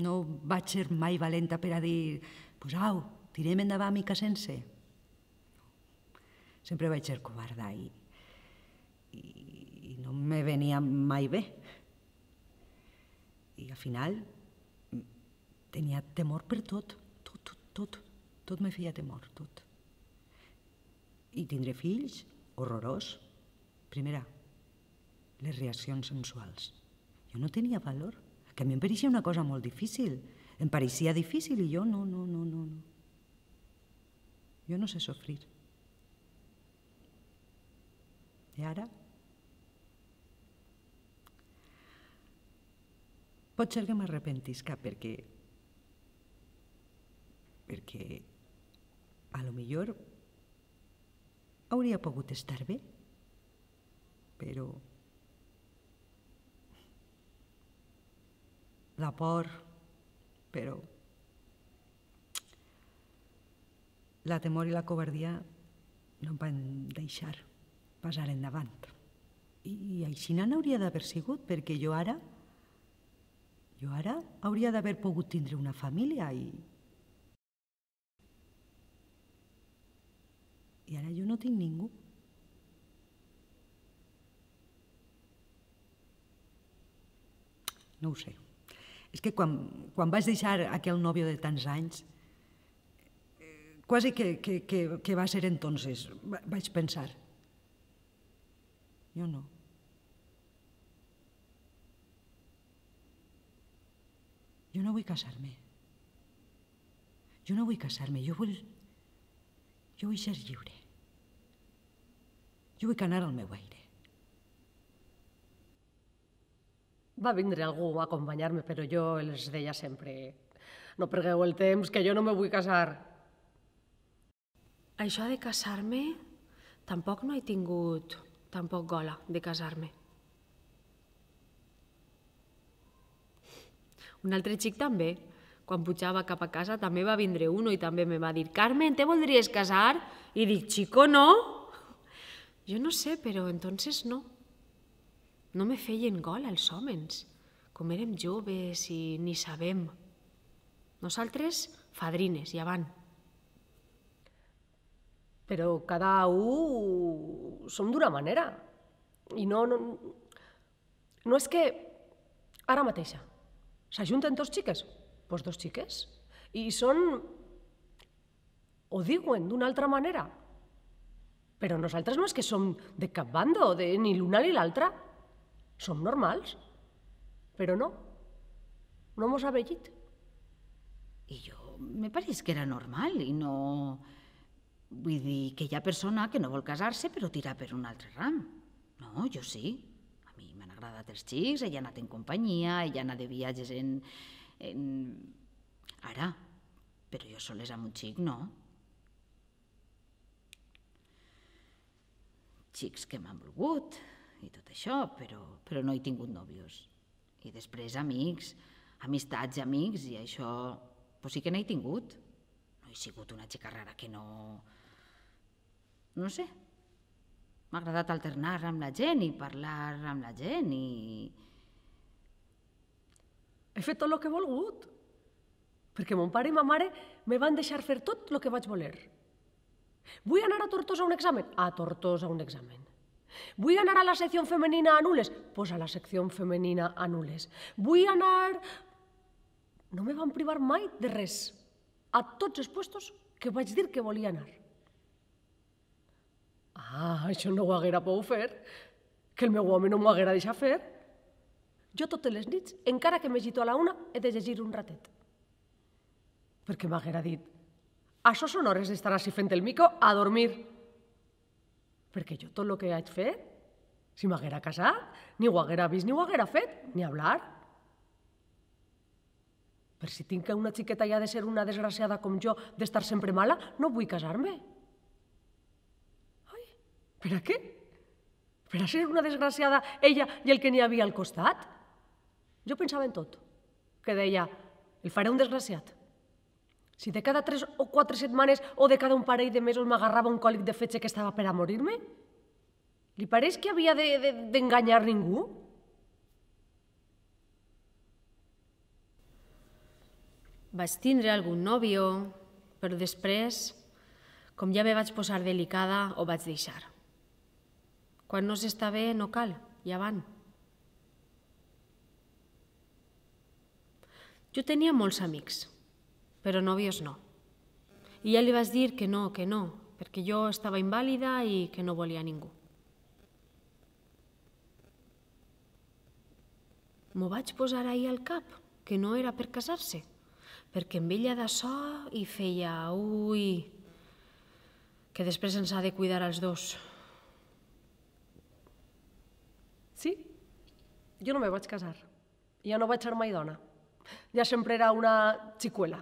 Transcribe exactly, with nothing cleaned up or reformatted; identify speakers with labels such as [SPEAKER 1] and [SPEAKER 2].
[SPEAKER 1] no vaig ser mai valenta per a dir pues au, tirem endavant i casem-se. Sempre vaig ser covarda i, i no me venia mai bé. I al final tenia temor per tot, tot, tot, tot, tot me feia temor, tot. I tindre fills, horrorós. Primera, les reaccions sensuals. Jo no tenia valor, que a mi em pareixia una cosa molt difícil. Em pareixia difícil i jo no, no, no, no. Jo no sé sofrir. I ara? Pot ser que m'arrepentisca perquè... perquè a lo millor hauria pogut estar bé, però la por, però la temor i la covardia no em van deixar passar endavant. I així n'hauria d'haver sigut, perquè jo ara, jo ara hauria d'haver pogut tindre una família i... I ara jo no tinc ningú. No ho sé. És que quan, quan vaig deixar aquell nòvio de tants anys, eh, quasi que, que, que, que va ser entonces, vaig pensar, jo no. Jo no vull casar-me. Jo no vull casar-me, jo vull... Jo vull ser lliure. Jo vull anar al meu aire.
[SPEAKER 2] Va vindre algú a acompanyar-me, però jo els deia sempre no perdeu el temps, que jo no me vull casar. Això de casar-me, tampoc no he tingut tampoc gola de casar-me. Un altre xic també, quan pujava cap a casa, també va vindre uno i també me va dir «Carmen, te voldries casar?» I dic «Chico, no?» Jo no sé, però entonces no. No me feien gol els homes, com érem joves i ni sabem. Nosaltres, fadrines, ja van. Però cada un som d'una manera. I no, no, no és que ara mateixa s'ajunten dos xiques, doncs dos xiques, i són, ho diuen d'una altra manera. Però nosaltres no és que som de cap bando, de ni l'una ni l'altra. Som normals, però no, no mos ha vellit.
[SPEAKER 3] I jo me pareix que era normal i no... Vull dir que hi ha persona que no vol casar-se però tira per un altre ram. No, jo sí. A mi m'han agradat els xics, ella ha anat en companyia, ella ha anat de viatges en... en... Ara, però jo soles amb un xic, no. Xics que m'han volgut i tot això, però, però no he tingut nòvios. I després amics, amistats i amics, i això pues sí que n'he tingut. No he sigut una xica rara que no... No sé. M'ha agradat alternar amb la gent i parlar amb la gent i...
[SPEAKER 2] He fet tot el que he volgut, perquè mon pare i ma mare me van deixar fer tot el que vaig voler. Vull anar a Tortosa a un examen? A Tortosa a un examen. Vull anar a la secció femenina a Nules? Pues a la secció femenina a Nules. Vull anar... No me van privar mai de res. A tots els puestos que vaig dir que volia anar. Ah, això no ho haguera pogut fer. Que el meu home no m'ho haguera deixat fer. Jo totes les nits, encara que m'agito a la una, he de llegir un ratet. Perquè m'haguera dit, això són hores d'estar així fent el mico a dormir. Perquè jo tot el que haig fet, si m'haguera casat, ni ho haguera vist ni ho haguera fet, ni hablar. Per si tinc que una xiqueta ja ha de ser una desgraciada com jo, d'estar sempre mala, no vull casar-me. Ai, per a què? Per a ser una desgraciada ella i el que n'hi havia al costat? Jo pensava en tot, que deia, el faré un desgraciat. Si de cada tres o quatre setmanes o de cada un parell de mesos m'agarrava un còlic de fetge que estava per a morir-me, li pareix que havia d'enganyar ningú? Vaig tindre algun nòvio, però després, com ja me vaig posar delicada, ho vaig deixar. Quan no s'està bé, no cal, ja van. Jo tenia molts amics, però nòvios no. I ja li vaig dir que no, que no, perquè jo estava invàlida i que no volia ningú. M'ho vaig posar ahir al cap, que no era per casar-se, perquè amb ella d'açò hi feia, ui, que després ens ha de cuidar els dos.
[SPEAKER 4] Sí, jo no me vaig casar. Ja no vaig ser mai dona. Ja sempre era una xicuela.